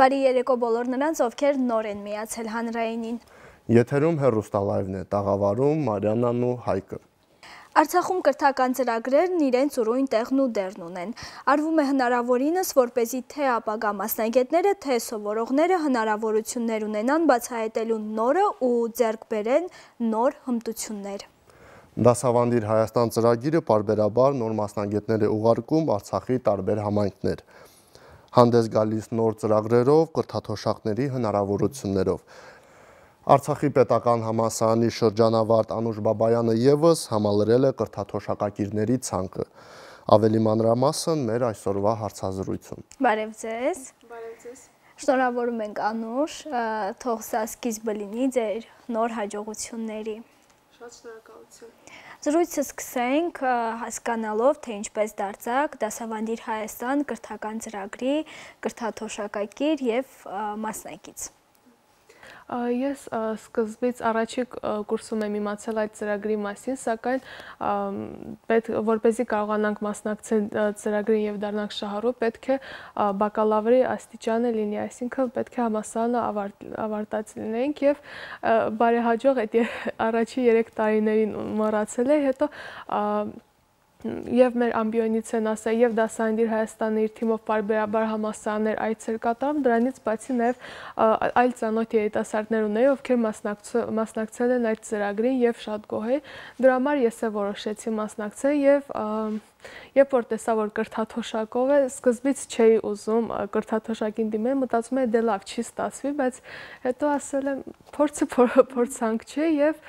Բարի երեկո բոլոր նրանց, ովքեր նոր են միացել հանրայինին։ Եթերում հեռուստալայվն է, տաղավարում Մարիաննան ու Հայկը։ Արցախում կրթական ծրագրերն իրենց ուրույն տեղն ու դերն ունեն։ Արվում է հնարավորինս, որպեսզի թե ապագա մասնագետները, թե սովորողները հնարավորություններ ունենան բացահայտելու նորը ու ձեռք բերեն նոր հմտություններ։ Դասավանդիր Հայաստան ծրագիրը պարբերաբար նոր մասնագետներ է ուղարկում Արցախի տարբեր համայնքներ։ Հանդես գալիս նոր ծրագրերով, կրթաթոշակների հնարավորություններով։ Արցախի պետական համալսարանի շրջանավարտ Անուշ Բաբայանը ևս համալրել է կրթաթոշակակիրների ցանկը։ Ավելի մանրամասն մեր այսօրվա հարցազրույցում։ Բարև ձեզ։ Բարև ձեզ։ Շնորհավորում ենք Անուշ, թող սա սկիզբը լինի ձեր նոր հաջողությունների։ Շատ շնորհակալություն։ Զրույցը սկսենք հասկանալով, թե ինչպես դարձաք Դասավանդիր Հայաստան կրթական ծրագրի կրթաթոշակակիր եւ մասնակից։ Ես սկզբից առաջի կուրսում եմ իմացել այդ ծրագրի մասին, սակայն որպեսզի կարողանանք մասնակցել ծրագրին եւ դառնանք շահառու, պետք է բակալավրի աստիճանը լինի, այսինքն պետք է համալսարանը ավարտած լինենք եւ բարեհաջող այդ առաջի 3 տարիներին մոռացել եմ, հետո Եվ մեր ամբիոնից են ասա, եւ Դասավանդիր Հայաստանը իր թիմով պարբերաբար համալսարաններ այցեր կատարում, դրանից բացի նաեւ այլ ծանոթ երիտասարդներ ունեի, ովքեր մասնակցել են այդ ծրագրին եւ շատ գոհ էի։ Դրա համար ես էլ որոշեցի մասնակցել եւ երբ որ տեսա, որ կրթաթոշակով է, սկզբից չէի ուզում կրթաթոշակին դիմել, մտածում եմ դե լավ չի ստացվի, բայց հետո ասել եմ փորձը փորձանք չէ եւ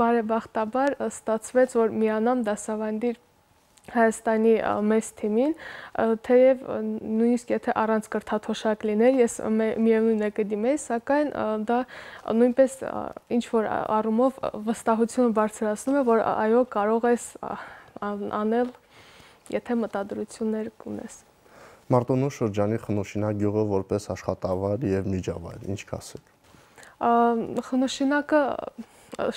բարեբախտաբար ստացվեց, որ միանամ Դասավանդիր Հայաստանի մեծ թիմին, թեև նույնիսկ եթե առանց կրթաթոշակ լիներ, ես միևնույն է կդիմեի, սակայն դա նույնպես ինչ որ առումով վստահությունը բարձրացնում է, որ այո կարող ես անել, եթե մտադրություններ ունես։ Մարտունու շրջանի Խնոշինակ գյուղը որպես աշխատավար եւ միջավայր, ինչ կասեք։ Խնոշինակը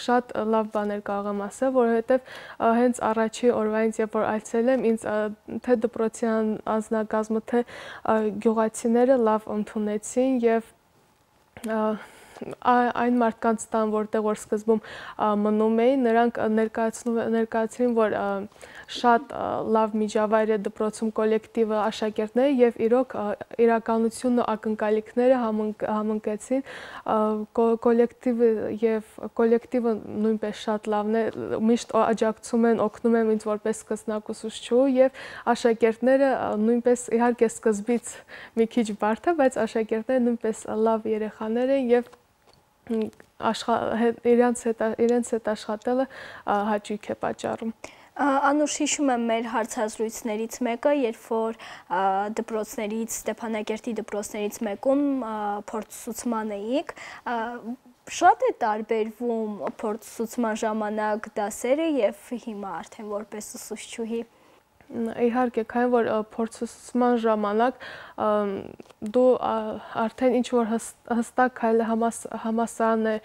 շատ լավ բաներ կարող եմ ասել, որովհետև հենց առաջի օրվանից, երբ որ այցելել եմ, ինձ թե դպրոցի անձնակազմը, թե գյուղացիները լավ ընդունեցին եւ այն մարդկանց տան, որտեղ որ սկզբում մնում էին, նրանք ներկայացրին, որ շատ լավ միջավայր է դպրոցում կոլեկտիվը, աշակերտները եւ իրոք իրականությունն ու ակնկալիքները համընկեցին, կոլեկտիվը նույնպես շատ լավն է, միշտ աջակցում են, օգնում են ինձ որպես սկսնակ ուսուցչու եւ աշակերտները նույնպես իհարկե սկզբից մի քիչ բարդ է, բայց աշակերտները նույնպես լավ երեխաներ են եւ իրենց հետ աշխատելը հաճույք է պատճառում։ Անուշ, հիշում եմ մեր հարցազրույցներից մեկը, երբ որ դպրոցներից, Ստեփանակերտի դպրոցներից մեկում փորձուսուցման էիք, շատ է տարբերվում փորձուսուցման ժամանակ դասերը եւ հիմա արդեն որպես ուսուցչուհի։ Իհարկե, քանի որ փորձուսուցման ժամանակ դու արդեն ինչ որ հստակ քայլը համալսարան է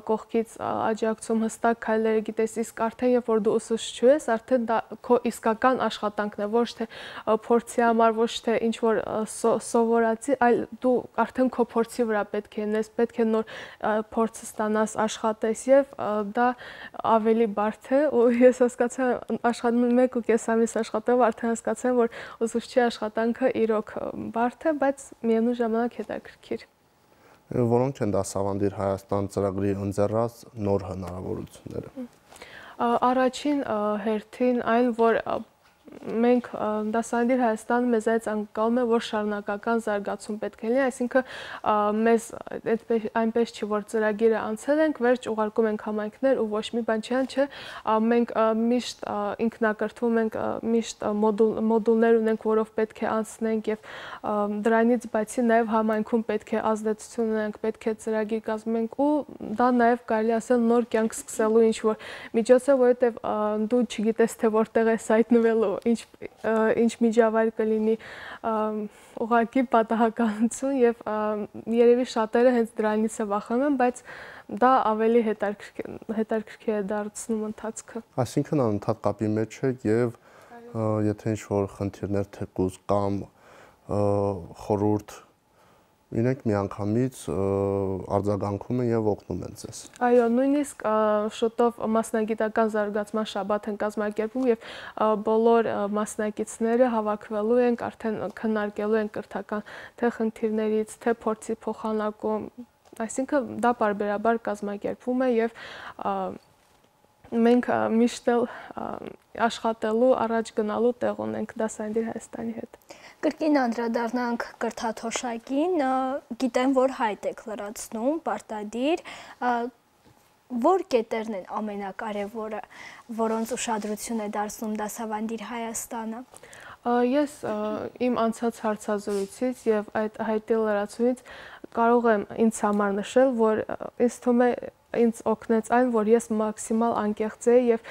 կողքից աջակցում, հստակ քայլերը գիտես, իսկ արդեն երբ որ դու ուսուցչու ես, արդեն դա քո իսկական աշխատանքն է, ոչ թե փորձի համար, ոչ թե ինչ որ սովորացի, այլ դու արդեն քո փորձի վրա պետք է նես, պետք է նոր փորձ ստանաս, աշխատես եւ դա ավելի բարդ է, ու ես հասկացա աշխատում 1.5 ամիս աշխատելով արդեն հասկացա, որ ուսուցչի աշխատանքը իրոք բարդ է, բայց միևնույն ժամանակ հետաքրքիր։ Որոնք են Դասավանդիր Հայաստան ծրագրի ընձեռած նոր հնարավորությունները։ Առաջին հերթին այն, որ մենք Դասավանդիր Հայաստանը մեզ այդ անկալում է, որ շարունակական զարգացում պետք է լինի, այսինքն մեզ այնպես չի, որ ծրագիրը անցել ենք, վերջ ուղարկում ենք համայնքներ ու ոչ մի բան չէ, մենք միշտ ինքնակրթվում ենք, միշտ մոդուլներ ունենք, որով պետք է անցնենք եւ դրանից բացի նաեւ համայնքում պետք է ազդեցություն ունենք, պետք է ծրագիր կազմենք ու դա նաեւ կարելի ասել նոր կյանք սկսելու ինչ որ միջոց է, որովհետեւ դու չգիտես թե որտեղ ես հայտնվելու, ինչ միջավայր կլինի, ուղղակի պատահականություն եւ երևի շատերը հենց դրանից է վախենում են, բայց դա ավելի հետաքրքիր է դարձնում ընթացքը։ Այսինքն անընդհատ կապի մեջ է եւ եթե ինչ որ խնդիրներ թեկուզ կամ խորհուրդ իրենք միանգամից արձագանքում են եւ օգնում են ձեզ։ Այո, նույնիսկ շուտով մասնագիտական զարգացման շաբաթ են կազմակերպում եւ բոլոր մասնակիցները հավաքվելու են, արդեն քննարկելու են կրթական թե խնդիրներից, թե փորձի փոխանակում, այսինքն դա պարբերաբար կազմակերպվում է եւ մենք միշտ աշխատելու, առաջ գնալու տեղ ունենք Դասավանդի Հայաստանի հետ։ Կրկին անդրադառնանք կրթաթոշակին, գիտեմ, որ հայտ եք լրացնում, պարտադիր, որ կետերն են ամենակարևորը, որոնց ուշադրություն է դարձնում Դասավանդի Հայաստանը։ Ես իմ անցած հարցազրույցից եւ այդ հայտի լրացումից կարող եմ ինձ համար նշել, որ ինձ թվում է ինձ օգնեց այն, որ ես մաքսիմալ անկեղծ էի եւ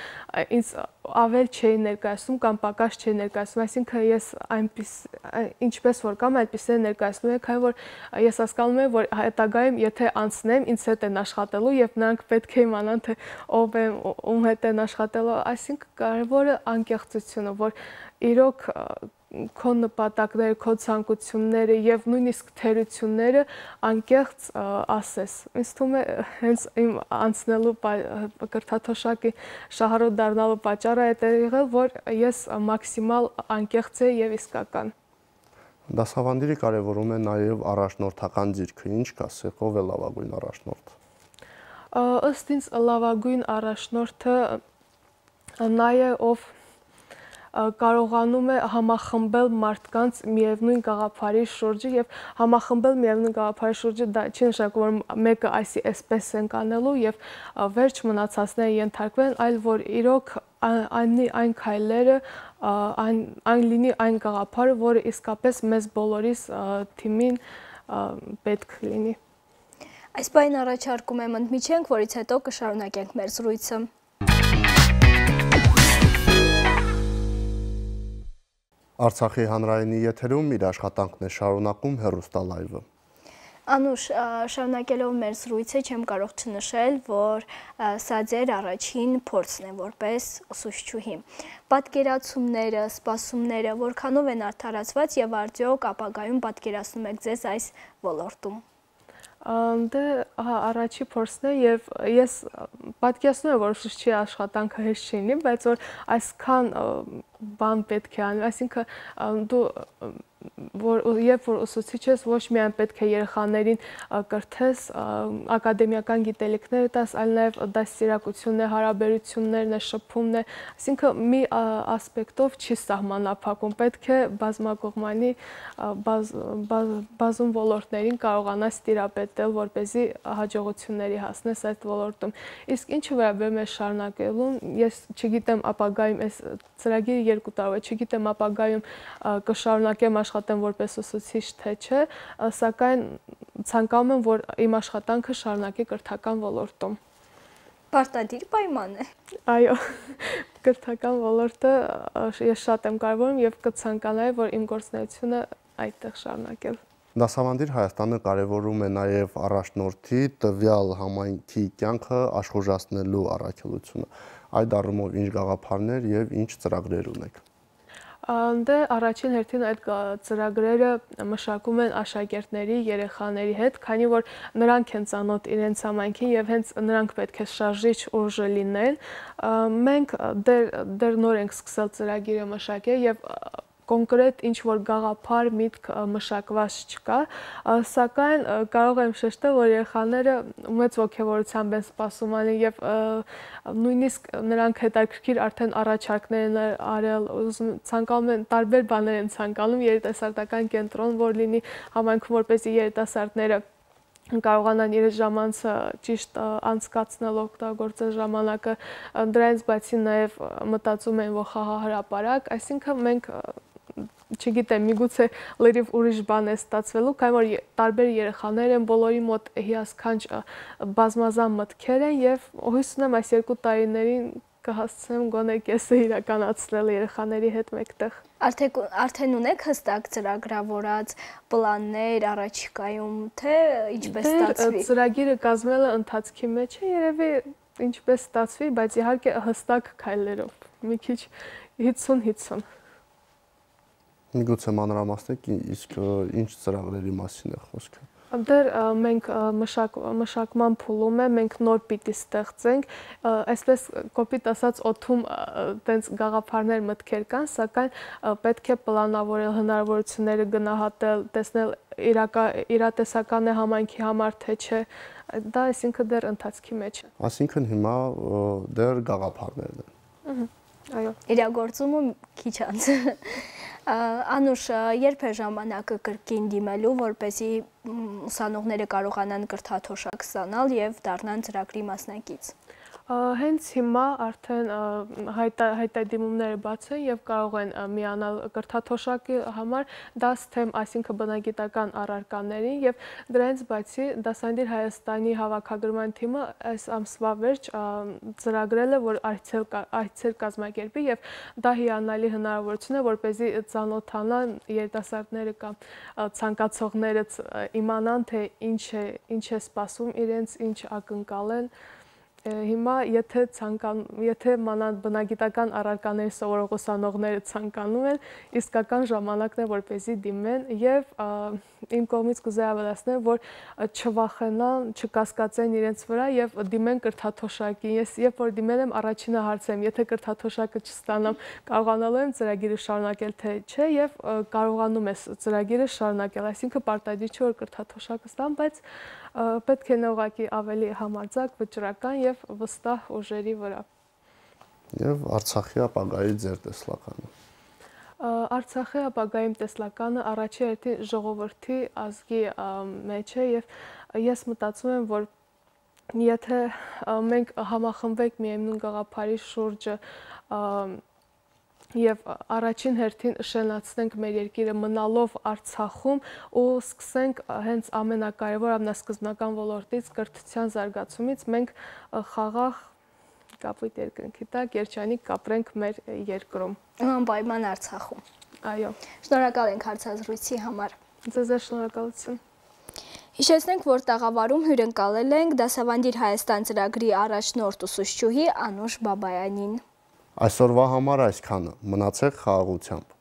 ինձ ավել չէի ներկայացնում կամ պակաս չէի ներկայացնում, այսինքն ես այնպես ինչպես որ կամ այդպես է ներկայացնում եմ, քանի որ ես հասկանում եմ, որ հետագայում եթե անցնեմ, ինձ հետ են աշխատելու եւ նրանք պետք է իմանան թե ով եմ, ում հետ են աշխատելու, այսինքն կարևորը անկեղծությունը, որ իրոք քո նպատակները, քո ցանկությունները եւ նույնիսկ թերությունները անկեղծ ասես։ Ինձ թվում է հենց իմ անցնելու կրթաթոշակի շահառու դառնալու պատճառը այդ է եղել, որ ես մաքսիմալ անկեղծ եի եւ իսկական։ Դասավանդիրը կարևորում է նաեւ առաջնորդական ձիրքը, ինչ կասեք, ով է լավագույն առաջնորդ։ Ըստ ինձ լավագույն առաջնորդը նա է, ով կարողանում է համախմբել մարդկանց միևնույն գաղափարի շուրջը եւ համախմբել միևնույն գաղափարի շուրջը դա չի նշանակում որ մեկը այսպես են կանելու եւ վերջ մնացածները ենթարկվեն, այլ որ իրոք այն քայլերը այն լինի այն գաղափարը, որը իսկապես մեզ բոլորիս թիմին պետք լինի։ Այս բան առաջարկում եմ ընդմիջենք, որից հետո կշարունակենք մեր զրույցը։ Արցախի հանրայինի եթերում իր աշխատանքն է շարունակում հեռուստալայվը։ Անուշ, շարունակելով մեր զրույցը չեմ կարող չնշել, որ սա ձեր առաջին փորձն է որպես ուսուցչուհի։ Պատկերացումները, սպասումները որքանով են արդարացված եւ արդյոք ապագայում պատկերացնում եք ձեզ այս ոլորտում։ Դե առաջի փորձն է եւ ես պատկերացնում եմ, որ ուսուցչի աշխատանքը հեշտ չի լինի, բայց որ այսքան բան պետք է անի, այսինքն դու երբ որ ուսուցիչ ես, ոչ միայն պետք է երեխաներին կրթես, ակադեմիական գիտելիքներ տաս, այլ նաև դաստիարակությունն է, հարաբերություններն է, շփումն է, այսինքն մի ասպեկտով չի սահմանափակում, պետք է բազմակողմանի բազում ոլորտներին կարողանաս տիրապետել, որպեսզի հաջողությունների հասնես այդ ոլորտում։ Իսկ ինչը վերաբերում է շարունակելուն, ես չգիտեմ ապագայում այս ծրագիրը 2 տարի է, չգիտեմ ապագայում կշարունակեմ աշխատեմ որպես ուսուցիչ թե չէ, սակայն ցանկանում եմ, որ իմ աշխատանքը շարունակի կրթական ոլորտում։ Պարտադիր պայման է։ Այո, կրթական ոլորտը ես շատ եմ կարևորում եւ կցանկանայի, որ իմ գործունեությունը այդտեղ շարունակել։ Դասավանդիր Հայաստանը կարևորում է նաև առաջնորդի տվյալ համայնքի կյանքը աշխուժացնելու առաքելությունը։ Այդ առումով ինչ գաղափարներ եւ ինչ ծրագրեր ունեք։ Դե առաջին հերթին այդ ծրագրերը մշակում են աշակերտների, երեխաների հետ, քանի որ նրանք են ծանոթ իրենց համայնքին եւ հենց նրանք պետք է շարժիչ ուժը լինեն։ Մենք դեռ նոր ենք սկսել ծրագիրը մշակել եւ կոնկրետ ինչ-որ գաղափար միտք մշակված չկա, սակայն կարող եմ շեշտել, որ երեխաները մեծ ոգևորությամբ են սպասում ալին եւ նույնիսկ նրանք հետաքրքիր արդեն առաջարկներ են արել, ցանկանում են տարբեր բաներ են ցանկանում երիտասարդական կենտրոն, որ լինի համայնքում, որպեսզի երիտասարդները կարողանան իրենց ժամանցը ճիշտ անցկացնել, օգտագործել ժամանակը, դրանից բացի նաև մտածում են, որ խաղահրապարակ, այսինքն մենք չգիտեմ, միգուցե լրիվ ուրիշ բան է ստացվելու, քանի որ տարբեր երեխաներ են, բոլորի մոտ հիասքանչ բազմազան մտքեր են եւ հույս ունեմ այս 2 տարիներին կհասցնեմ գոնե կեսը իրականացնել երեխաների հետ մեկտեղ։ Արդեն ունեք հստակ ծրագրավորած պլաններ առաջիկայում, թե ինչպես ստացվի։ Ծրագիրը կազմելը ընթացքի մեջ է, երևի ինչպես ստացվի, բայց իհարկե հստակ քայլերով, մի քիչ 50-50։ Միգուցե մանրամասնեք, իսկ ինչ ծրագրերի մասին է խոսքը։ Դեռ մենք մշակման փուլում է, մենք նոր պիտի ստեղծենք, այսպես կոպիտ ասած օդում տենց գաղափարներ մտքեր կան, սակայն պետք է պլանավորել հնարավորությունները գնահատել, տեսնել իրատեսական է համայնքի համար թե չէ, դա այսինքն դեռ ընթացքի մեջ է։ Այսինքն հիմա դեռ գաղափարներն են։ Այո։ Իրագործումը քիչ անց։ Անուշ, երբ է ժամանակը կրկին դիմելու, որպեսզի ուսանողները կարողանան կրթաթոշակ ստանալ եւ դառնան ծրագրի մասնակից։ Հենց հիմա արդեն հայտարարումները բաց են եւ կարող են միանալ կրթաթոշակի համար դաս թեմ, այսինքն բնագիտական առարկաներին եւ դրանից բացի Դասադիր Հայաստանի հավաքագրման թիմը այս ամսվա վերջ ծրագրել է, որ այցեր կազմակերպի եւ դա հիանալի հնարավորություն է, որպեսզի ծանոթանան երիտասարդները կամ ցանկացողները իմանան, թե ինչ է սպասում իրենց, ինչ ակնկալ են։ Հիմա եթե մանավանդ բնագիտական առարկաների սովորող ուսանողները ցանկանում են, իսկական ժամանակն է, որպեսզի դիմեն եւ իմ կողմից կուզեի ավելացնել, որ չվախենան, չկասկածեն իրենց վրա եւ դիմեն կրթաթոշակին։ Ես երբ որ դիմել եմ, առաջինը հարցրեմ, եթե կրթաթոշակը չստանամ, կարողանալու եմ ծրագիրը շարունակել թե չէ եւ կարողանում ես ծրագիրը շարունակել, այսինքն պարտադիր չէ որ կրթաթոշակը ստամ, բայց պետք է ուղղակի ավելի համարձակ, վճռական եւ վստահ ուժերի վրա։ Եվ Արցախի ապագայի ձեր տեսլականը։ Արցախի ապագայի տեսլականը առաջի հերթին ժողովրդի ազգի մեջ է եւ ես մտածում եմ, որ եթե մենք համախմբենք միևնույն գաղափարի շուրջը եւ առաջին հերթին շենացնենք մեր երկիրը մնալով Արցախում ու սկսենք հենց ամենակարևոր ամենասկզբնական ոլորտից կրթության զարգացումից մենք խաղաղ կապույտ երկնքի տակ երջանիկ կապրենք մեր երկրում։ Անպայման Արցախում։ Այո։ Շնորհակալ ենք հարցազրույցի համար։ Ձեզ շնորհակալություն։ Հիշեցնենք, որ տաղավարում հյուրընկալել ենք Դասավանդիր Հայաստան ծրագրի առաջնորդ ուսուցչուհի Անուշ Բաբայանին։ Այսօրվա համար այսքանը, մնացեք խաղաղությամբ։